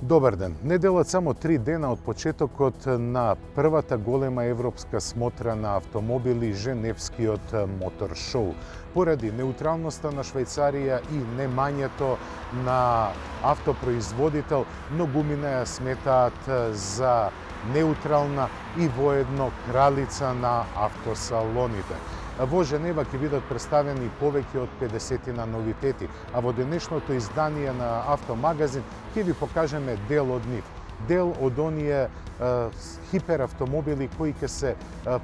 Добар ден. Неделат само 3 дена од почетокот на првата голема европска смотра на автомобили Женевскиот мотор шоу. Поради неутралноста на Швајцарија и немањето на автопроизводител, многумина ја сметаат за неутрална и воедно кралица на автосалоните. Во Женева ќе бидат представени повеќе од 50 новитети, а во денешното издание на Автомагазин ќе ви покажеме дел од нив. Дел од оние хиперавтомобили кои ќе се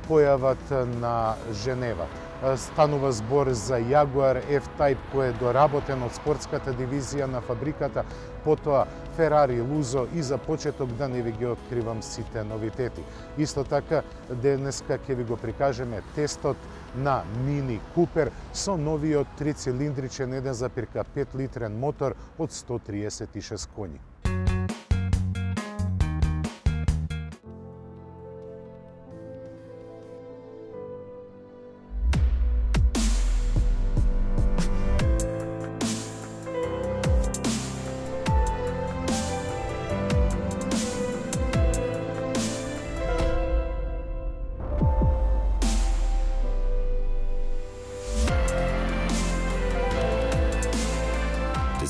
појават на Женева. Станува збор за Jaguar F-Type кој е доработен од спортската дивизија на фабриката, потоа Ferrari Lusso и за почеток да не ви ги откривам сите новитети. Исто така, денеска ќе ви го прикажеме тестот на Mini Cooper со новиот 3-цилиндричен 1,5 литрен мотор од 136 коњи.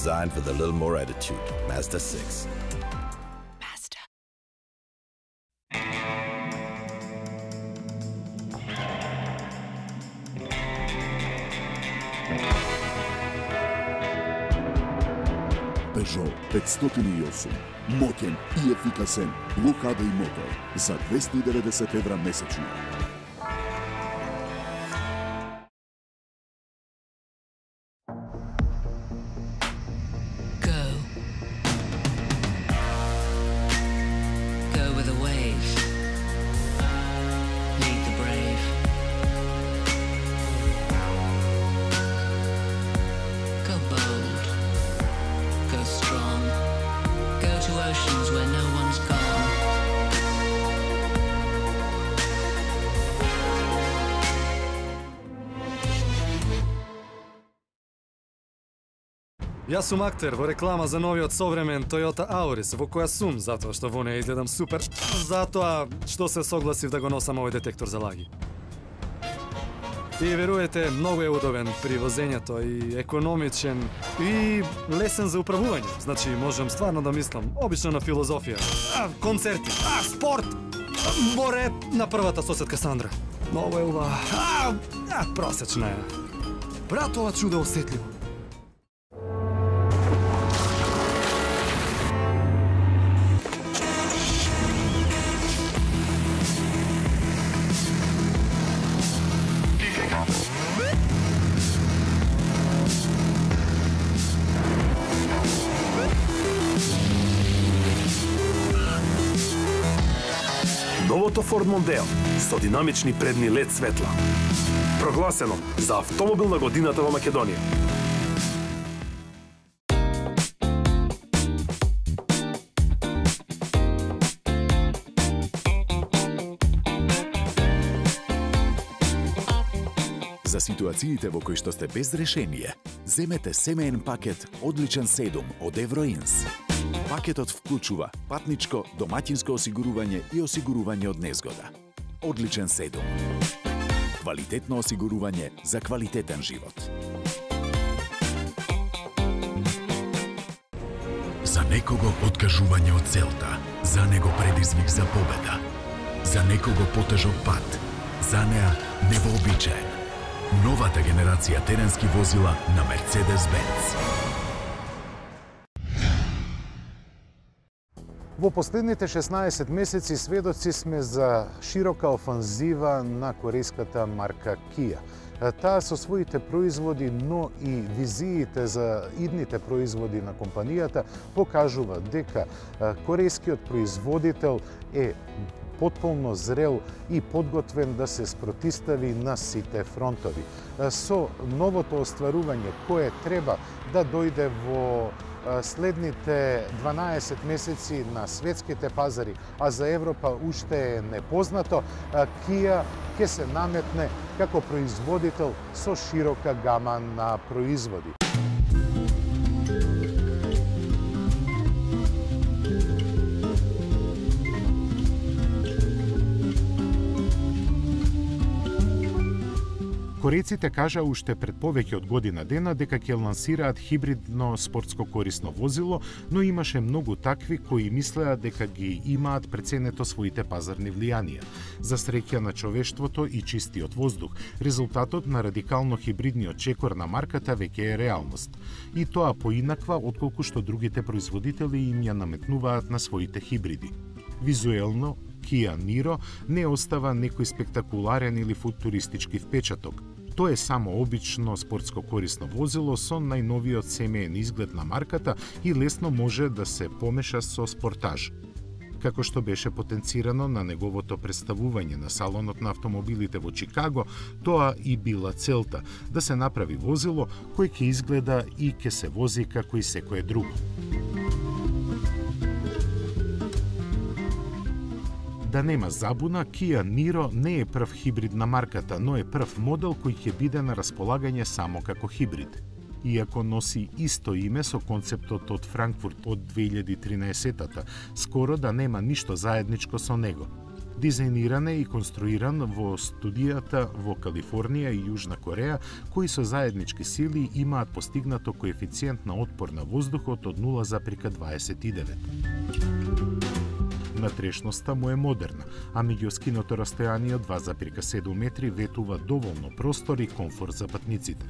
Designed with a little more attitude. Mazda 6. Mazda. Peugeot 508. Моќен и ефикасен локада и мотор за 290 евра месечно. Јас сум актер во реклама за новиот современ Toyota Auris, во која сум затоа што во неја изгледам супер, затоа што се согласив да го носам овој детектор за лаги. И веруете, многу е удобен при возењето и економичен и лесен за управување. Значи, можам стварно да мислам, обично на филозофија, концерти, спорт, море на првата соседка Сандра. Многу е убава, просечна е. Брат, ова чудо осетливо. Новото Ford Mondeo со динамични предни LED светла. Прогласено за автомобил на годината во Македонија. За ситуациите во кои што сте без решение, земете семеен пакет Одличен 7 од Евроинс. Пакетот вклучува патничко, домаќинско осигурување и осигурување од незгода. Одличен 7. Квалитетно осигурување за квалитетен живот. За некого откажување од целта, за него предизвик за победа. За некого потежок пат, за неа невообичаен. Новата генерација теренски возила на Mercedes-Benz. Во последните 16 месеци сведоци сме за широка офанзива на корејската марка Kia. Таа со своите производи, но и визиите за идните производи на компанијата покажува дека корејскиот производител е потполно зрел и подготвен да се спротистави на сите фронтови. Со новото остварување кое треба да дојде во следните 12 месеци на светските пазари, а за Европа уште е непознато, Kia ќе се наметне како производител со широка гама на производи. Корејците кажа уште пред повеќе од година дена дека ќе лансираат хибридно спортско корисно возило, но имаше многу такви кои мислеа дека ги имаат преценето своите пазарни влијанија. За среќа на човештвото и чистиот воздух, резултатот на радикално хибридниот чекор на марката веќе е реалност. И тоа поинаква отколку што другите производители им ја наметнуваат на своите хибриди. Визуелно, Kia Niro не остава некој спектакуларен или футуристички впечаток. Тоа е само обично спортско корисно возило со најновиот семеен изглед на марката и лесно може да се помеша со спортаж. Како што беше потенцирано на неговото представување на салонот на автомобилите во Чикаго, тоа и била целта, да се направи возило кој ќе изгледа и ќе се вози како и секое друго. Да нема забуна, Kia Niro не е прв хибрид на марката, но е прв модел кој ќе биде на располагање само како хибрид. Иако носи исто име со концептот од Франкфурт од 2013-та, скоро да нема ништо заедничко со него. Дизајниран е и конструиран во студијата во Калифорнија и Јужна Кореја, кои со заеднички сили имаат постигнато коефициент на отпор на воздухот од 0,29. Натрешноста му е модерна, а меѓу скиното растојание од 2,7 метри ветува доволно простор и комфорт за патниците.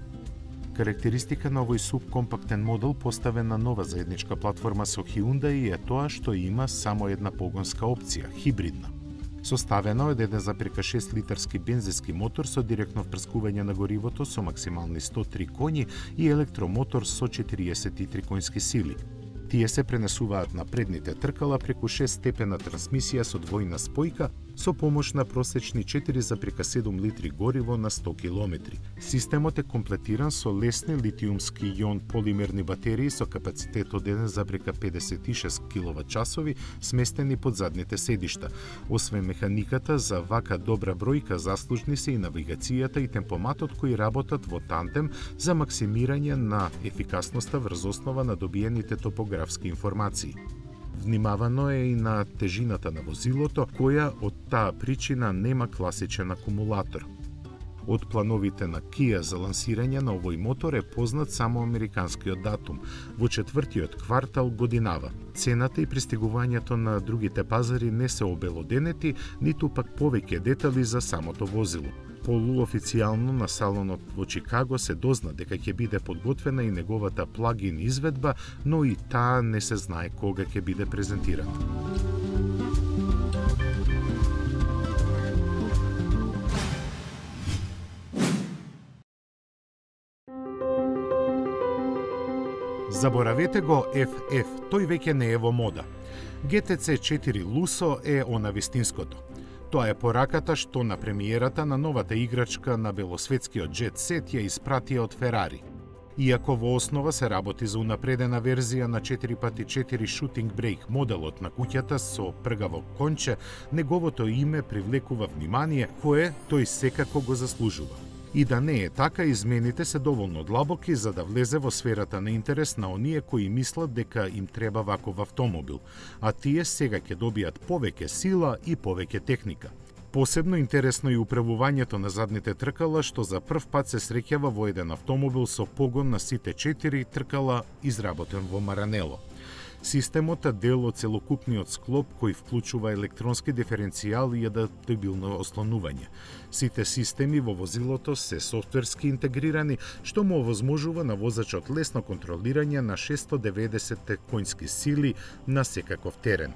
Карактеристика на овој субкомпактен модел поставен на нова заедничка платформа со Hyundai е тоа што има само една погонска опција, хибридна. Составена од 1,6 литарски бензински мотор со директно впрскување на горивото со максимални 103 коњи и електромотор со 43 конски сили. Тие се пренесуваат на предните тркала преку 6-степена трансмисија со двојна спојка со помош на просечни 4,7 литри гориво на 100 километри. Системот е комплетиран со лесни литиумски јон полимерни батерии со капацитет од 1,56 киловат-часови сместени под задните седишта. Освен механиката, за вака добра бројка заслужни се и навигацијата и темпоматот кои работат во тандем за максимирање на ефикасноста врз основа на добиените топографски информации. Внимавано е и на тежината на возилото, која од таа причина нема класичен акумулатор. Од плановите на Kia за лансирање на овој мотор е познат само американскиот датум, во 4-тиот квартал годинава. Цената и пристигувањето на другите пазари не се обелоденети, ниту пак повеќе детали за самото возило. Полуофицијално на салонот во Чикаго се дозна дека ќе биде подготвена и неговата плагин изведба, но и таа не се знае кога ќе биде презентирана. Заборавете го FF, тој веќе не е во мода. GTC 4 Lusso е она вистинското. Тоа е пораката што на премиерата на новата играчка на белосветскиот Jet Set ја испратија од Ферари. Иако во основа се работи за унапредена верзија на 4x4 Shooting Brake моделот на куќата со пргаво конче, неговото име привлекува внимание кое тој секако го заслужува. И да не е така, измените се доволно длабоки за да влезе во сферата на интерес на оние кои мислат дека им треба ваков автомобил, а тие сега ќе добијат повеќе сила и повеќе техника. Посебно интересно е управувањето на задните тркала, што за прв пат се среќава во еден автомобил со погон на сите 4 тркала изработен во Маранело. Системот е дел од целокупниот склоп кој вклучува електронски диференцијал и адаптабилно ослонување. Сите системи во возилото се софтверски интегрирани, што му овозможува на возачот лесно контролирање на 690 конски сили на секаков терен.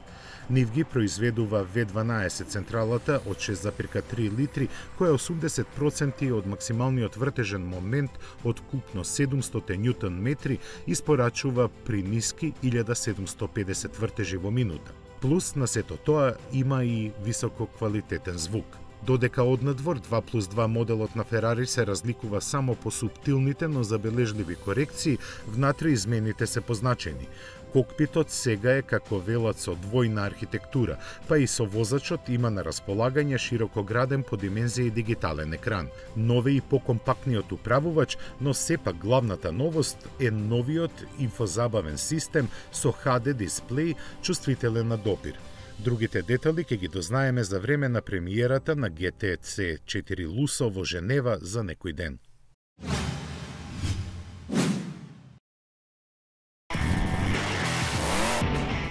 Нив ги произведува V12 централата од 6,3 литри, која е 80% од максималниот вртежен момент од купно 700 ньютон метри испорачува при ниски 1750 вртежи во минута. Плюс на сето тоа има и висококвалитетен звук. Додека однадвор 2+2 моделот на Ферари се разликува само по суптилните, но забележливи корекции, внатре измените се позначени. Кокпитот сега е како велат со двојна архитектура, па и со возачот има на располагање широкограден по димензија и дигитален екран. Нове и покомпактниот управувач, но сепак главната новост е новиот инфозабавен систем со HD дисплеј чувствителен на допир. Другите детали ќе ги дознаеме за време на премиерата на GTC 4 Lusso во Женева за некој ден.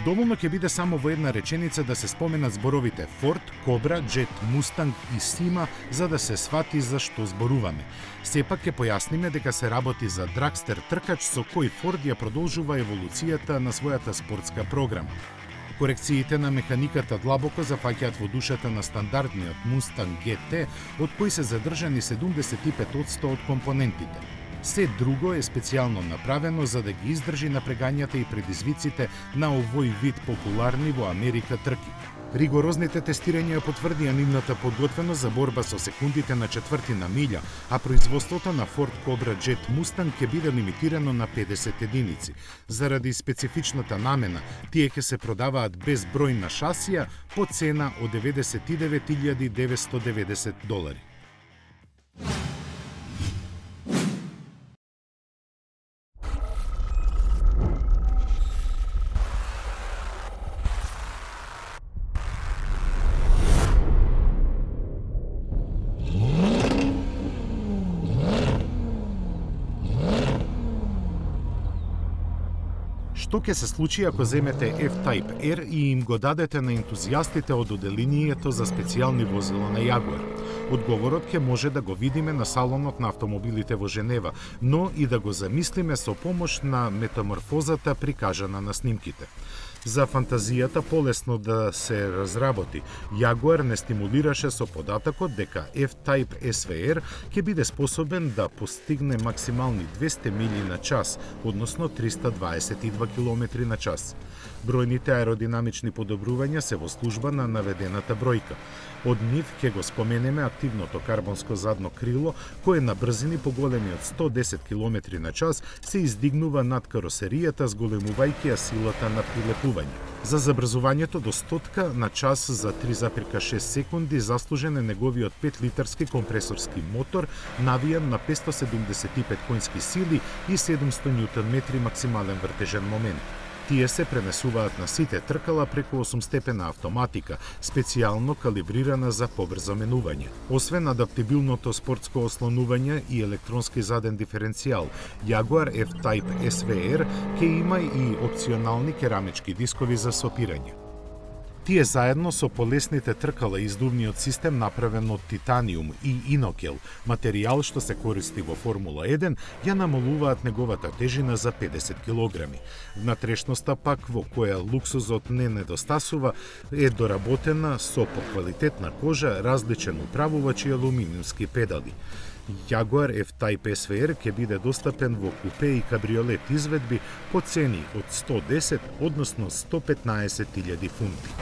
Доволно ќе биде само во една реченица да се споменат зборовите Ford, Cobra, Jet, Mustang и Sima за да се свати за што зборуваме. Сепак ќе појасниме дека се работи за драгстер тркач со кој Ford ја продолжува еволуцијата на својата спортска програма. Корекциите на механиката длабоко зафаќаат во душата на стандардниот Mustang GT, од кој се задржани 75% од компонентите. Се друго е специјално направено за да ги издржи напрегањата и предизвиците на овој вид популарни во Америка трки. Ригорозните тестирања потврдија нивната подготвеност за борба со секундите на четвртина милја, а производството на Ford Cobra Jet Mustang ќе биде лимитирано на 50 единици. Заради специфичната намена, тие ќе се продаваат без број на шасија по цена од $99,990. Што ќе се случи ако земете F-Type R и им го дадете на ентузијастите од оделението за специјални возила на Jaguar? Одговорот ќе може да го видиме на салонот на автомобилите во Женева, но и да го замислиме со помош на метаморфозата прикажана на снимките. За фантазијата полесно да се разработи, Jaguar не стимулираше со податокот дека F-Type SVR ќе биде способен да постигне максимални 200 мили на час, односно 322 км на час. Бројните аеродинамични подобрувања се во служба на наведената бројка. Од нив ќе го споменеме активното карбонско задно крило, кое на брзини поголеми од 110 км на час се издигнува над каросеријата, зголемувајќи ја силата на прилепување. За забрзувањето до 100 на час за 3,6 секунди заслужен е неговиот 5-литарски компресорски мотор, навијан на 575 конски сили и 700 Нм максимален вртежен момент. Тие се пренесуваат на сите тркала преку 8-степена автоматика, специјално калибрирана за побрзо менување. Освен адаптибилното спортско ослонување и електронски заден диференцијал, Jaguar F-Type SVR ќе има и опционални керамички дискови за сопирање. Тие заедно со полесните тркала и издувниот систем направен од титаниум и инокел, материјал што се користи во Формула 1, ја намалуваат неговата тежина за 50 кг. Внатрешноста пак, во која луксузот не недостасува, е доработена со поквалитетна кожа, различен управувач и алуминиумски педали. Jaguar F-Type SVR ќе биде достапен во купе и кабриолет изведби по цени од 110, односно 115.000 фунти.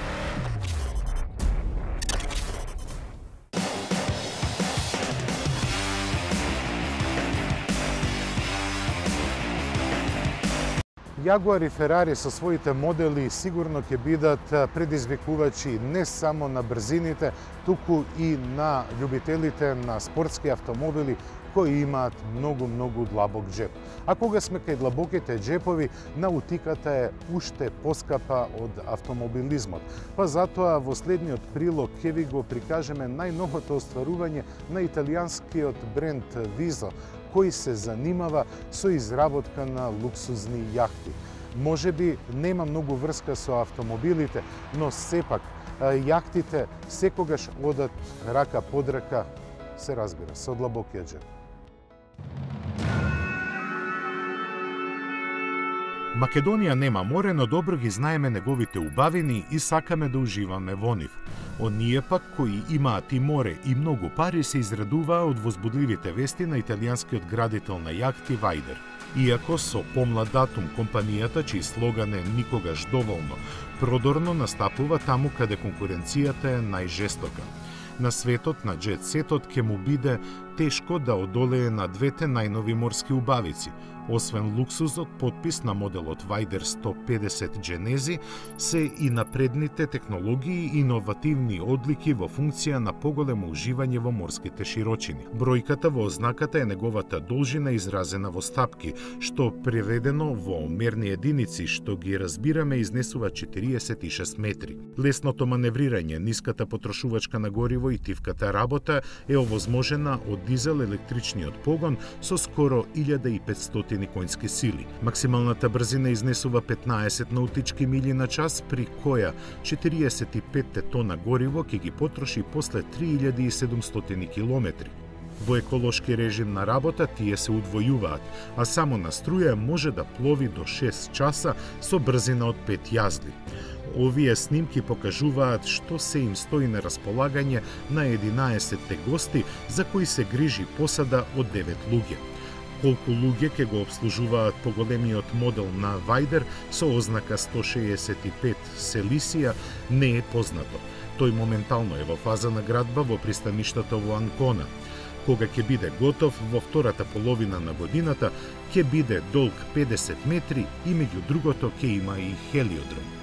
Jaguar и Ferrari со своите модели сигурно ќе бидат предизвикувачи не само на брзините, туку и на љубителите на спортски автомобили кои имаат многу длабок џеп. А кога сме кај длабоките џепови, наутиката е уште поскапа од автомобилизмот. Па затоа во следниот прилог ќе ви го прикажеме најновото остварување на италијанскиот бренд Viso, кој се занимава со изработка на луксузни јахти. Може би нема многу врска со автомобилите, но сепак јахтите секогаш одат рака под рака, се разбира, со длабокиот џеп. Македонија нема море, но добро ги знаеме неговите убавини и сакаме да уживаме во нив. Оние пак кои имаат и море и многу пари се израдуваа од возбудливите вести на италијанскиот градител на јахти Вајдер. Иако со помлад датум компанијата, чиј слоган е никогаш доволно, продорно настапува таму каде конкуренцијата е најжестока. На светот на џет сетот ќе му биде тешко да одолее на двете најнови морски убавици. Освен луксузот потпис на моделот Vider 150 Genesi, се и напредните технологии и иновативни одлики во функција на поголемо уживање во морските широчини. Бројката во ознаката е неговата должина изразена во стапки, што преведено во мерни единици, што ги разбираме, изнесува 46 метри. Лесното маневрирање, ниската потрошувачка на гориво и тивката работа е овозможена од дизел-електричниот погон со скоро 1500 конски сили. Максималната брзина изнесува 15 наутички мили на час, при која 45 тона гориво ќе ги потроши после 3700 километри. Во еколошки режим на работа тие се удвојуваат, а само на струја може да плови до 6 часа со брзина од 5 јазди. Овие снимки покажуваат што се им стои на располагање на 11 гости за кои се грижи посада од 9 луѓе. Колку луѓе ќе го обслужуваат поголемиот модел на Vider со ознака 165 Celicia не е познато. Тој моментално е во фаза на градба во пристаништето во Анкона. Кога ќе биде готов во втората половина на годината, ќе биде долг 50 метри и меѓу другото ќе има и хелиодром.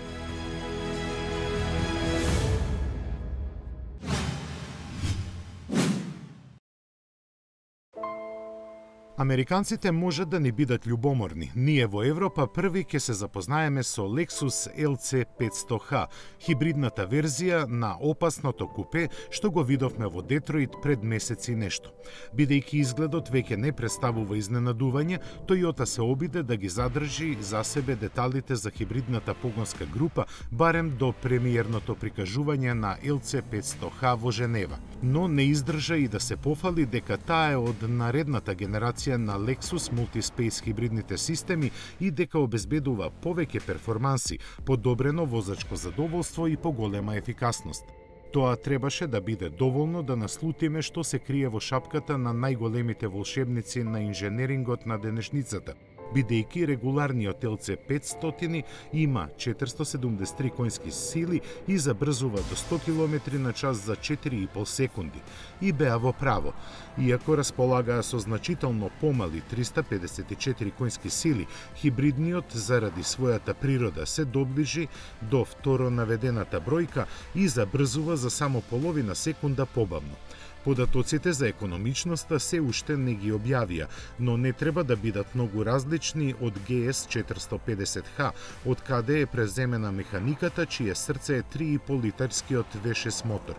Американците можат да не бидат љубоморни. Ние во Европа први ќе се запознаеме со Lexus LC 500H, хибридната верзија на опасното купе што го видовме во Детройт пред месеци нешто. Бидејќи изгледот веќе не представува изненадување, Toyota се обиде да ги задржи за себе деталите за хибридната погонска група барем до премиерното прикажување на LC 500H во Женева. Но не издржа и да се пофали дека таа е од наредната генерација на Lexus Multispace хибридните системи и дека обезбедува повеќе перформанси, подобрено возачко задоволство и поголема ефикасност. Тоа требаше да биде доволно да наслутиме што се крие во шапката на најголемите волшебници на инженерингот на денешницата, бидејќи регуларниот LC 500 има 473 конски сили и забрзува до 100 км на час за 4,5 секунди. И беа во право. Иако располагаа со значително помали 354 конски сили, хибридниот заради својата природа се доближи до второ наведената бројка и забрзува за само половина секунда побавно. Податоците за економичноста се уште не ги објавија, но не треба да бидат многу различни од GS 450H, од каде е преземена механиката, чие срце е 3,5 литарскиот V6 мотор.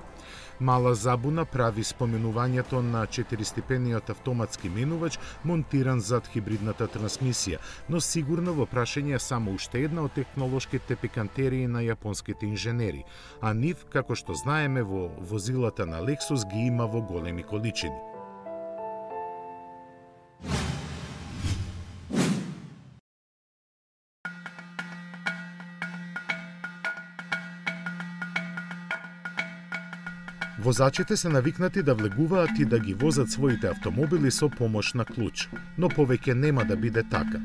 Мала забуна прави споменувањето на 4-степениот автоматски менувач монтиран зад хибридната трансмисија, но сигурно во прашање само уште една од технолошките пикантерии на јапонските инженери, а нив, како што знаеме во возилата на Lexus, ги има во големи количини. Возачите се навикнати да влегуваат и да ги возат своите автомобили со помош на клуч, но повеќе нема да биде така.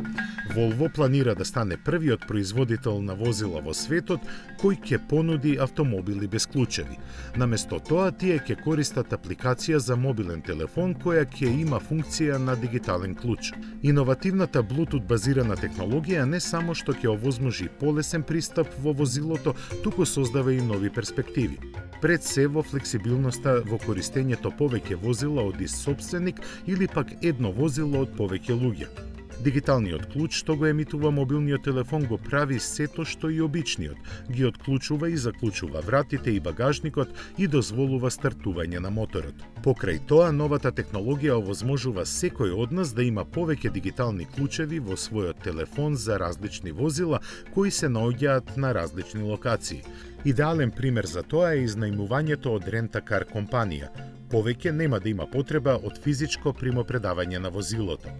Volvo планира да стане првиот производител на возила во светот кој ќе понуди автомобили без клучеви. Наместо тоа, тие ќе користат апликација за мобилен телефон која ќе има функција на дигитален клуч. Иновативната Bluetooth базирана технологија не само што ќе овозможи полесен пристап во возилото, туку создава и нови перспективи. Пред се во флексибилноста во користењето повеќе возила од ист сопственик или пак едно возило од повеќе луѓе. Дигиталниот клуч што го емитува мобилниот телефон го прави сето што и обичниот, ги отклучува и заклучува вратите и багажникот и дозволува стартување на моторот. Покрај тоа, новата технологија овозможува секој од нас да има повеќе дигитални клучеви во својот телефон за различни возила кои се наоѓаат на различни локации. Идеален пример за тоа е изнајмувањето од рента-кар компанија. Повеќе нема да има потреба од физичко примопредавање на возилото.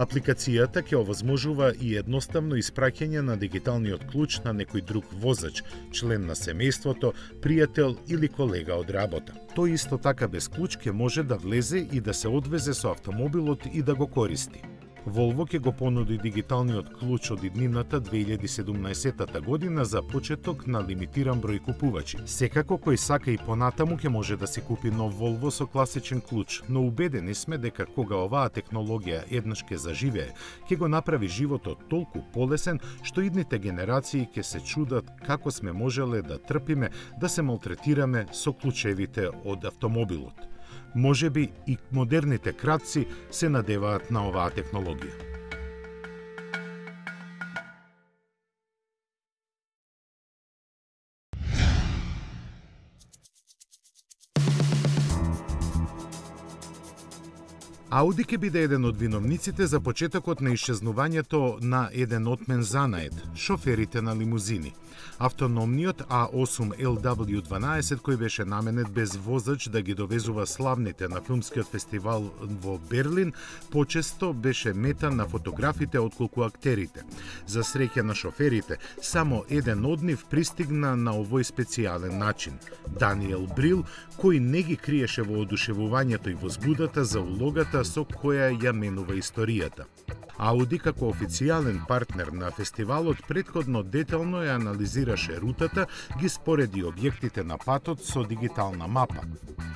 Апликацијата ќе овозможува и едноставно испраќање на дигиталниот клуч на некој друг возач, член на семејството, пријател или колега од работа. Тој исто така без клуч ќе може да влезе и да се одвезе со автомобилот и да го користи. Volvo ќе го понуди дигиталниот клуч од иднината 2017 година за почеток на лимитиран број купувачи. Секако кој сака и понатаму ќе може да си купи нов Volvo со класичен клуч, но убедени сме дека кога оваа технологија еднаш ќе заживее, ќе го направи животот толку полесен што идните генерации ќе се чудат како сме можеле да трпиме да се малтретираме со клучевите од автомобилот. Можеби и модерните кратци се надеваат на оваа технологија. Ауди ќе биде еден од виновниците за почетокот на исчезнувањето на еден отмен занает – шоферите на лимузини. Автономниот A8 LW12 кој беше наменет без возач да ги довезува славните на филмскиот фестивал во Берлин, почесто беше мета на фотографите отколку актерите. За среќа на шоферите, само еден од нив пристигна на овој специјален начин – Даниел Брил, кој не ги криеше во одушевувањето и возбудата за улогата со која ја менува историјата. Ауди како официјален партнер на фестивалот претходно детално ја анализираше рутата, ги спореди објектите на патот со дигитална мапа.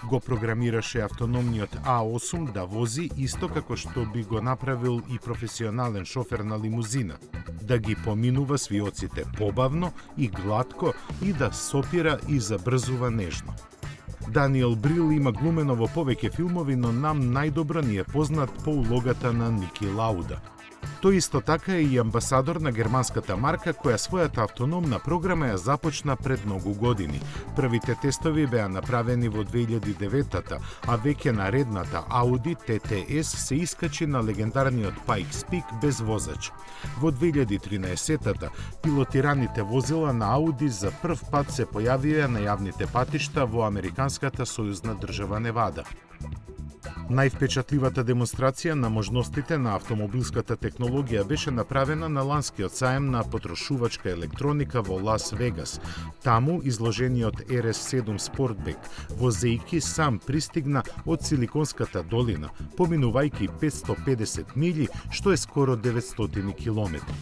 Го програмираше автономниот A8 да вози исто како што би го направил и професионален шофер на лимузина, да ги поминува свиоците побавно и глатко и да сопира и забрзува нежно. Даниел Брил има глумено во повеќе филмови, но нам најдобро ни е познат по улогата на Ники Лауда. Тој исто така е и амбасадор на германската марка која својата автономна програма ја започна пред многу години. Првите тестови беа направени во 2009-та, а веќе наредната Audi TTS се искачи на легендарниот Pikes Peak без возач. Во 2013-та пилотираните возила на Audi за прв пат се појавија на јавните патишта во американската сојузна држава Невада. Највпечатливата демонстрација на можностите на автомобилската технологија беше направена на ланскиот саем на потрошувачка електроника во Лас Вегас. Таму изложениот RS7 Sportback возејки сам пристигна од Силиконската долина, поминувајќи 550 милји, што е скоро 900 километри.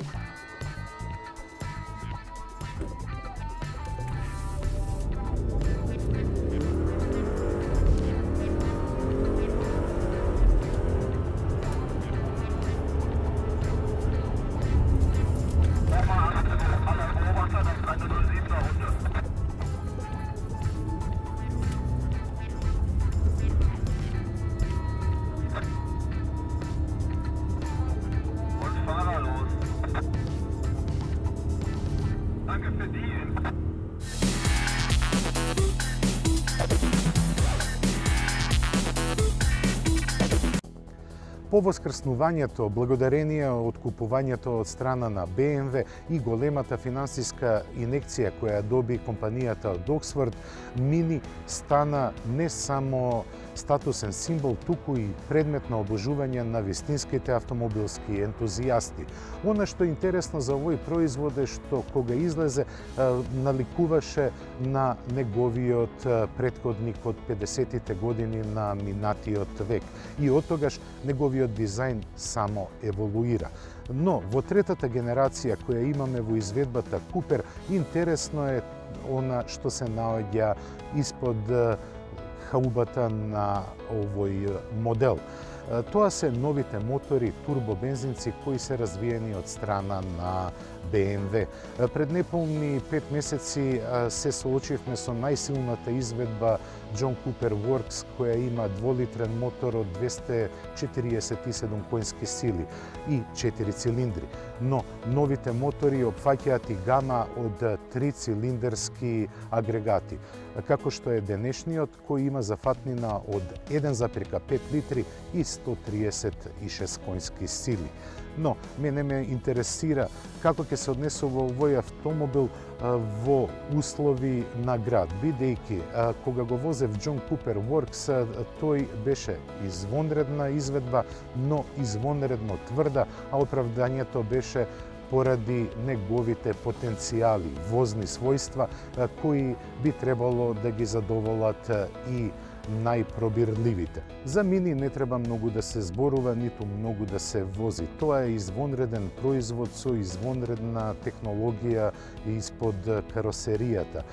По воскреснувањето, благодарение од купувањето од страна на BMW и големата финансиска инекција која доби компанијата од Оксфорд, Мини стана не само статусен символ, туку и предмет на обожување на вистинските автомобилски ентузијасти. Она што е интересно за овој производ е што кога излезе наликуваше на неговиот претходник од 50-тите години на минатиот век и оттогаш неговиот дизајн само еволуира. Но во третата генерација која имаме во изведбата Купер, интересно е она што се наоѓа испод хаубата на овој модел. Тоа се новите мотори турбобензинци кои се развиени од страна на BMW. Пред неполни 5 месеци се соочивме со најсилната изведба John Cooper Works, која има 2-литрен мотор од 247 коњски сили и 4 цилиндри. Но новите мотори опфаќаат и гама од 3-цилиндерски агрегати, како што е денешниот кој има зафатнина од 1,5 литри и 136 коњски сили. Но мене ме интересира како ќе се однесува овој автомобил во услови на град, бидејќи кога го возев John Cooper Works, тој беше извонредна изведба, но извонредно тврда, а оправдањето беше поради неговите потенцијали, возни својства, кои би требало да ги задоволат и најпробирливите. За Мини не треба многу да се зборува, ниту многу да се вози. Тоа е извонреден производ со извонредна технологија испод каросеријата.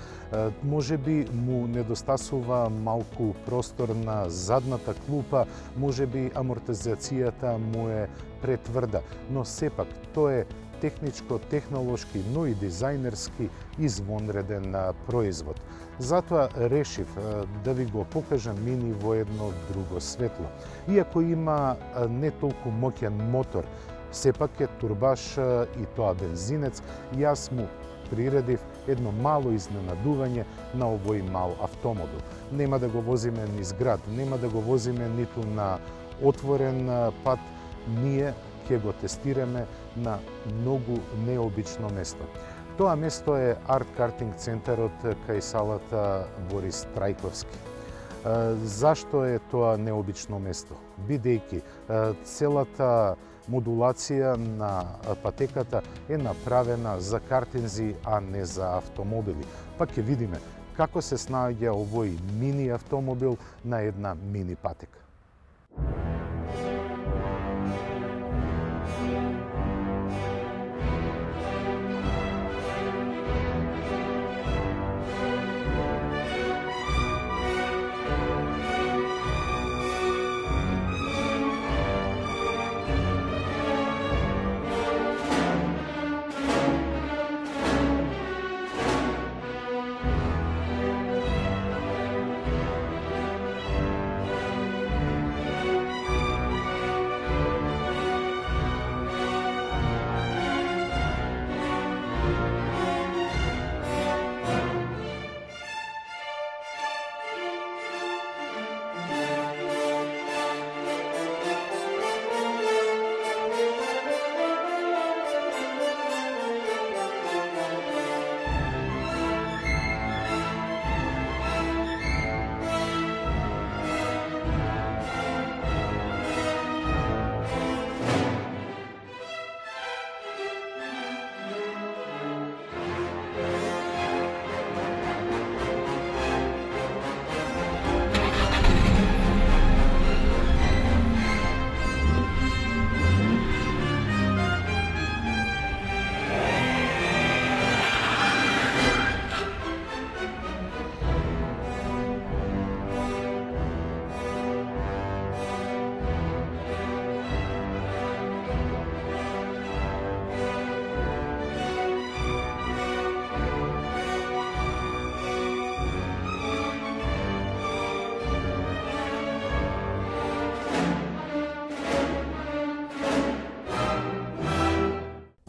Може би му недостасува малку простор на задната клупа, може би амортизацијата му е претврда, но сепак тоа е техничко, технолошки, но и дизајнерски извонреден производ. Затоа решив да ви го покажам Мини во едно друго светло. Иако има не толку моќен мотор, сепак е турбаш и тоа бензинец, јас му приредив едно мало изненадување на овој мал автомобил. Нема да го возиме низ град, нема да го возиме ниту на отворен пат, ние ќе го тестираме на многу необично место. Тоа место е Арт Картинг центарот кај салата Борис Трајковски. Зашто е тоа необично место? Бидејќи целата модулација на патеката е направена за картинзи, а не за автомобили. Па ќе видиме како се снаоѓа овој мини автомобил на една мини патека.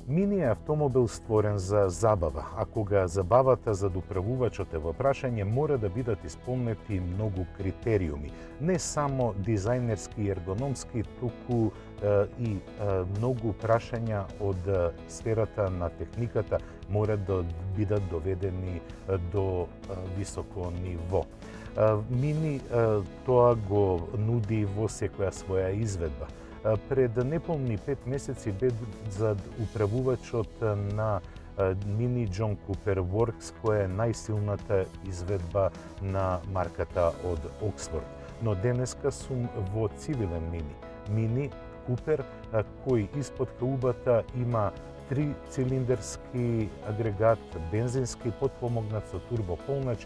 Мини е автомобил створен за забава, а кога забавата за доправувачот е во прашање, мора да бидат исполнети многу критериуми. Не само дизајнерски и ергономски, туку и многу прашања од сферата на техниката мора да бидат доведени до високо ниво. Мини тоа го нуди во секоја своја изведба. Пред неполни 5 месеци бе за управувачот на Мини Джон Купер Works, која е најсилната изведба на марката од Оксфорд. Но денеска сум во цивилен Мини. Мини Купер, кој испод каубата има 3-цилиндерски агрегат, бензински потпомогнат со турбополнач,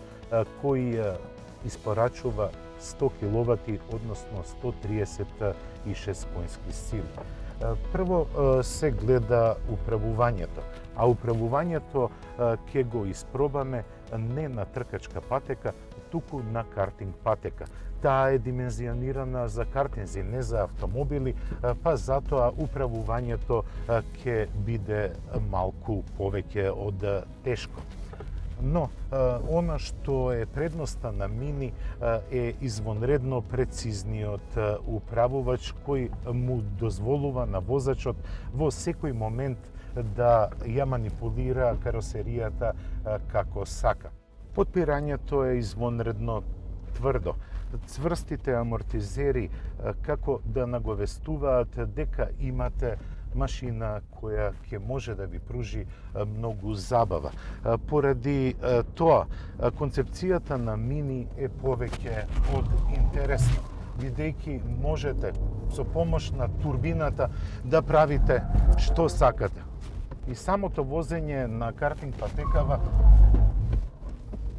кој испорачува 100 киловати, односно 136 коњски сили. Прво се гледа управувањето, а управувањето ќе го испробаме не на тркачка патека, туку на картинг патека. Таа е димензионирана за картинзи, не за автомобили, па затоа управувањето ќе биде малку повеќе од тешко. Но, она што е предноста на Мини е извонредно прецизниот управувач кој му дозволува на возачот во секој момент да ја манипулира каросеријата како сака. Подпирањето е извонредно тврдо. Цврстите амортизери како да наговестуваат дека имате машина која ќе може да ви пружи многу забава. Поради тоа, концепцијата на Мини е повеќе од интересна, бидејќи можете со помош на турбината да правите што сакате. И самото возење на картинг патекава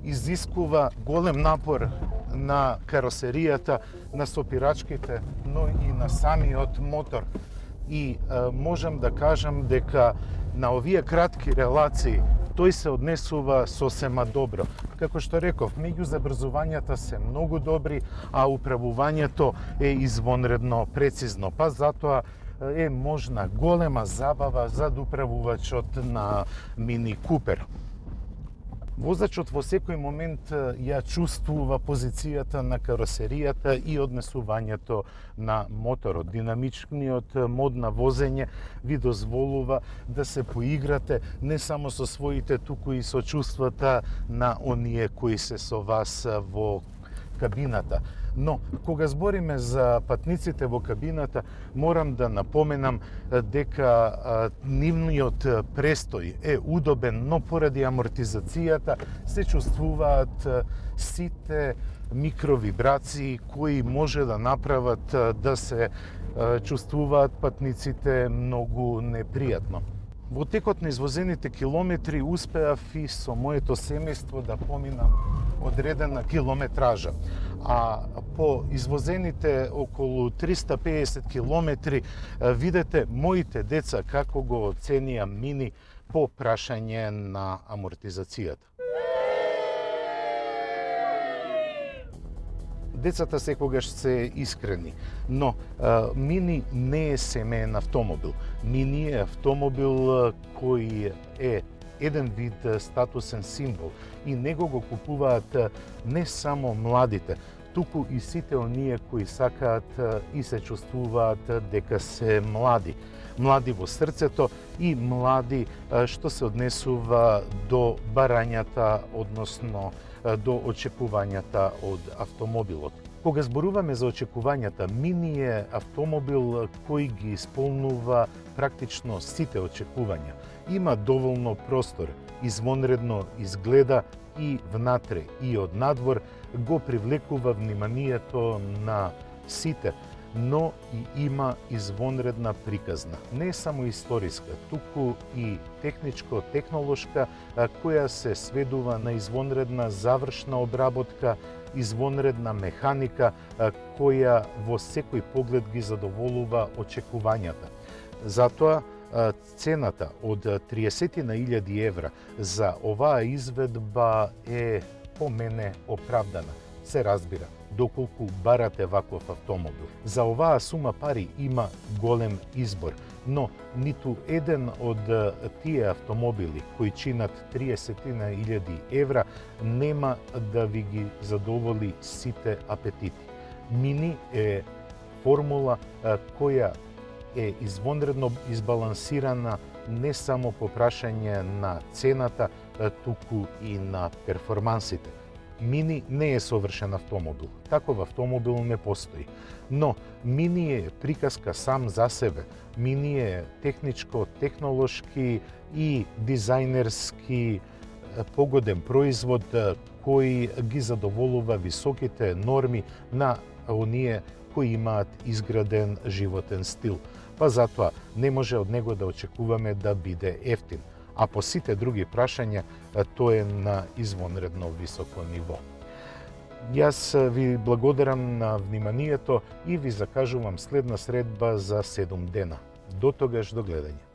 изискува голем напор на каросеријата, на сопирачките, но и на самиот мотор. И можам да кажам дека на овие кратки релации тој се однесува сосема добро. Како што реков, меѓу забрзувањата се многу добри, а управувањето е извонредно прецизно, па затоа е можна голема забава за управувачот на Мини Купер. Возачот во секој момент ја чувствува позицијата на каросеријата и однесувањето на моторот. Динамичниот мод на возење ви дозволува да се поиграте не само со своите, туку и со чувствата на оние кои се со вас во кабината. Но, кога збориме за патниците во кабината, морам да напоменам дека нивниот престој е удобен, но поради амортизацијата се чувствуваат сите микровибрации кои може да направат да се чувствуваат патниците многу непријатно. Во текот на извозените километри успеав и со моето семејство да поминам одредена километража. А по извозените околу 350 километри видете моите деца како го оценија Мини по прашање на амортизацијата. Децата секогаш се искрени, но Мини не е семеен автомобил. Мини е автомобил кој е еден вид статусен символ и него го купуваат не само младите, туку и сите оние кои сакаат и се чувствуваат дека се млади. Млади во срцето и млади што се однесува до барањата, односно до очекувањата од автомобилот. Кога зборуваме за очекувањата, Мини е автомобил кој ги исполнува практично сите очекувања. Има доволно простор, извонредно изгледа и внатре и од надвор, го привлекува вниманието на сите, но и има извонредна приказна. Не само историска, туку и техничко-технолошка, која се сведува на извонредна завршна обработка, извонредна механика, која во секој поглед ги задоволува очекувањата. Затоа, цената од 30.000 евра за оваа изведба е по мене оправдана. Се разбира, доколку барате ваков автомобил. За оваа сума пари има голем избор, но ниту еден од тие автомобили кои чинат 30.000 евра нема да ви ги задоволи сите апетити. Мини е формула која е извонредно избалансирана не само по прашање на цената, туку и на перформансите. Мини не е совршен автомобил. Таков автомобил не постои. Но Мини е приказка сам за себе. Мини е техничко, технолошки и дизајнерски погоден производ кој ги задоволува високите норми на оние кои имаат изграден животен стил. Па затоа не може од него да очекуваме да биде ефтин. А по сите други прашања тој е на извонредно високо ниво. Јас ви благодарам на вниманието и ви закажувам следна средба за 7 дена. До тогаш, до гледање.